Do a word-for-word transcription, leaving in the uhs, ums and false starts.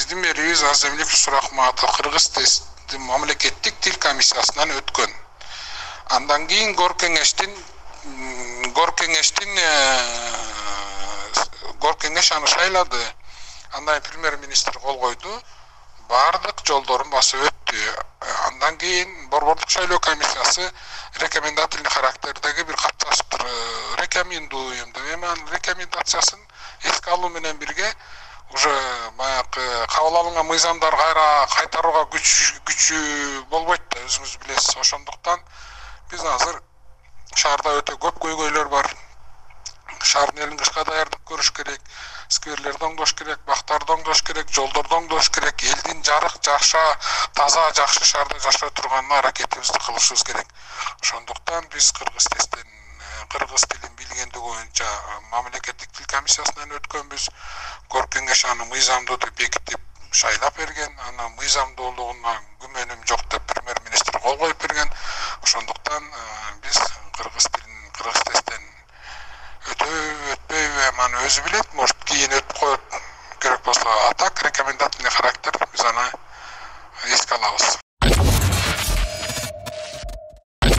биздин мэрибиз Азамбек Сурахматов кыргыз мамлекеттик тил комиссиясынан өткөн. Андан кийин гор кеңештин гор кеңештин гор кеңеш аны шайлады. Андан премьер-министр кол койду. Бардык жолдорун басып өттү. Андан кийин борбордук шайлоо комиссиясы рекомендательный характердеги бир кат жазыптыр. Рекомендуем деп, эми анын рекомендациясын эске алуу менен бирге уже баягы кабыл алынган мыйзамдар кайра кайтарууга күч күчү болбойт да, өзүңүз билесиз. Ошондуктан биз азыр шаарда өтө көп көйгөйлөр бар. Шаардын элин кышка даярдап көрүш керек, скверлерди оңдош керек, бактарды оңдош керек, жолдорду оңдош керек, элдин жарык, жакша, таза, жакшы шаарда жашай турганына аракетибизди кылышыбыз керек. Ошондуктан биз кыргыз тестен кыргыз тилин билгендиги боюнча мамлекеттик тил комиссиясынан өткөнбүз. Гор кеңеш аны мыйзамдуу деп бекитип шайлап берген. Анан мыйзамдуулугуна күмөнүм жок деп премьер-министр кол коюп берген. Ошондуктан биз кыргыз тилин кыргыз тесттен өтөбү, өтпөйбү, аны өзү билет, может кийин өтүп коет керек болсо. А так рекомендательный характер, биз аны эске алабыз.